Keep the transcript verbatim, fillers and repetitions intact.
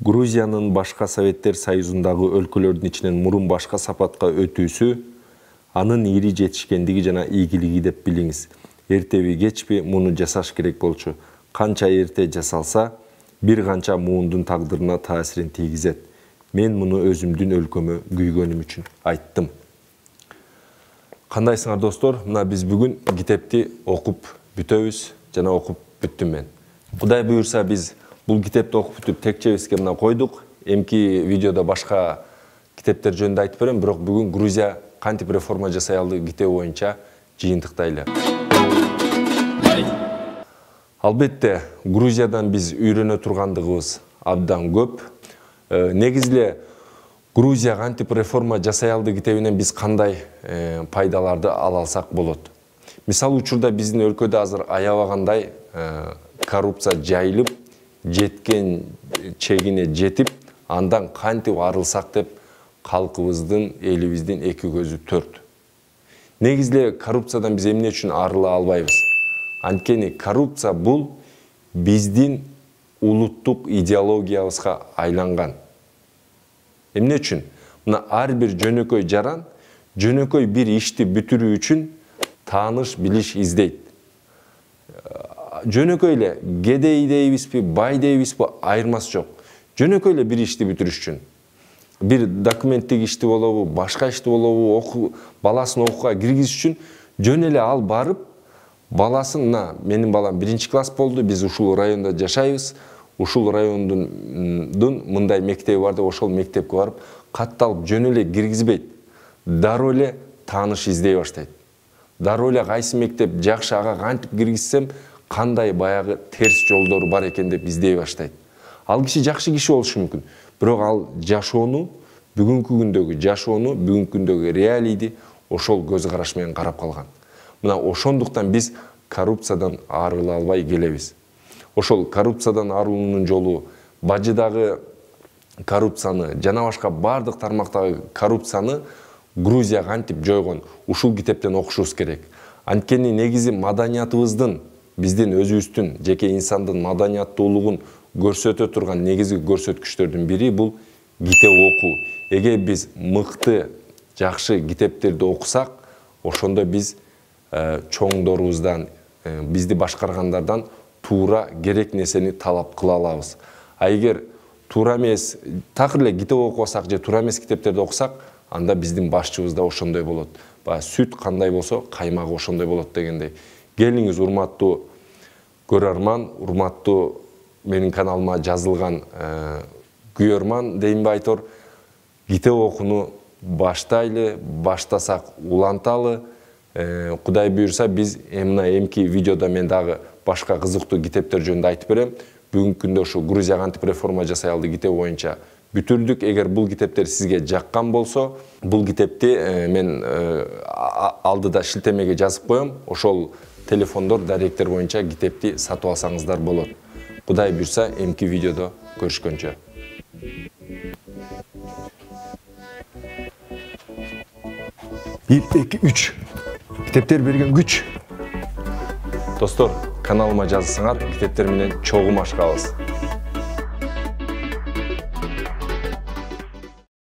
Грузиянын башка Советтер Союзундагы өлкөлөрдүн ичинен мурун башка сапатка өтүүсү анын ири жетишкендиги жана ийгилиги деп билиңиз. Эртеби кечпи муну жасаш керек болчу. Канча эрте жасалса, бир канча муундун тагдырына таасирин тийгизет. Мен муну өзүмдүн өлкөмө күйгөнүм үчүн айттым. Кандайсыңар достор? Мына биз бүгүн китепти окуп бүтөбүз жана окуп бүттүм мен. Кудай буйрса биз бул китепти окуп бүтүп текчебизге мына койдук. Эмки видеодо башка китептер жөнүндө айтып берем, бирок бүгүн Грузия кантип реформа жасай алды китеби боюнча жыйынтыктайлы. Албетте, Грузиядан биз үйрөнө тургандыгыбыз абдан көп. Негизиле Грузия кантип реформа жасай алды китебинен биз кандай пайдаларды ала алсак болот. Мисалы учурда биздин өлкөдө азыр аябагандай коррупция жайылып, жеткен чегине жетип, андан кантип арылсак деп калкыбыздын, элибиздин эки көзү төрт. Негизиле коррупциядан биз эмне үчүн арыла албайбыз? Анткени коррупция бул биздин улуттук идеологиябызга айланган. Эмне үчүн? Мына ар бир жөнөкөй жаран жөнөкөй бир ишти бүтүрүү үчүн тааныш, билиш издейт. Жөнөкөй эле кедей дейбизби, бай дейбизби, айырмасы жок. Жөнөкөй эле бир ишти бүтүрүш үчүн. Бир документтик ишти болобу, башка ишти болобу, оку, баласын окууга киргизиш үчүн жөн эле ал барып, баласын, мына менин балам биринчи класс болду, биз ушул районда жашайбыз, ушул райондун мындай мектеби бар деп ошол мектепке барып, катталып жөн эле киргизбейт. Дароо эле тааныш издей баштайт. Дароо эле кайсы мектеп жакшы, ага кантип киргизсем, кандай баягы терс жолдору бар экен деп издей баштайт. Ал киши жакшы киши болушу мүмкүн, бирок ал жашоону, бүгүнкү күндөгү жашоону, бүгүнкү күндөгү реалийди ошол көз караш менен карап калган. Мына ошондуктан биз коррупциядан арыла албай келебиз. Ошол коррупциядан арылуунун жолу бажыдагы коррупцияны жана башка бардык тармактагы коррупцияны Грузия кантип жойгон, ушул китептен окушубуз керек. Анткени негизи маданиятыбыздын, биздин өзүбүздүн, жеке инсандын маданияттуулугун көрсөтө турган негизги көрсөткүчтөрдүн бири бул китеп окуу. Эгер биз мыкты, жакшы китептерди окусак, ошондо биз чоңдорубуздан, бизди башкаргандардан туура керек нерсени талап кыла алабыз. А эгер туура эмес, такыр эле китеп окубасак же туура эмес китептерди окусак, анда биздин башчыбыз да ошондой болот. Баягы сүт кандай болсо, каймагы ошондой болот дегендей. Келиңиз, урматтуу көрөрман, урматтуу менин каналыма жазылган күйөрман дейинби айтор, китеп окууну баштайлы, баштасак уланталы. Кудай буйрса биз эмне эмки видеодо мен дагы башка кызыктуу китептер жөнүндө айтып берем. Бүгүнкү күндө ушу Грузия кантип реформа жасай алды китеби боюнча бүтүрдүк. Эгер бул китептер сизге жаккан болсо, бул китепти мен алдыда шилтемеге жазып коем. Ошол телефондор, даректер боюнча китепти сатып алсаңыздар болот. Кудай буйрса эмки видеодо көрүшкөнчө. бир, эки, үч. Китептер берген күч. Достор, каналыма жазсаңар, китептер менен чогум ашкабыз.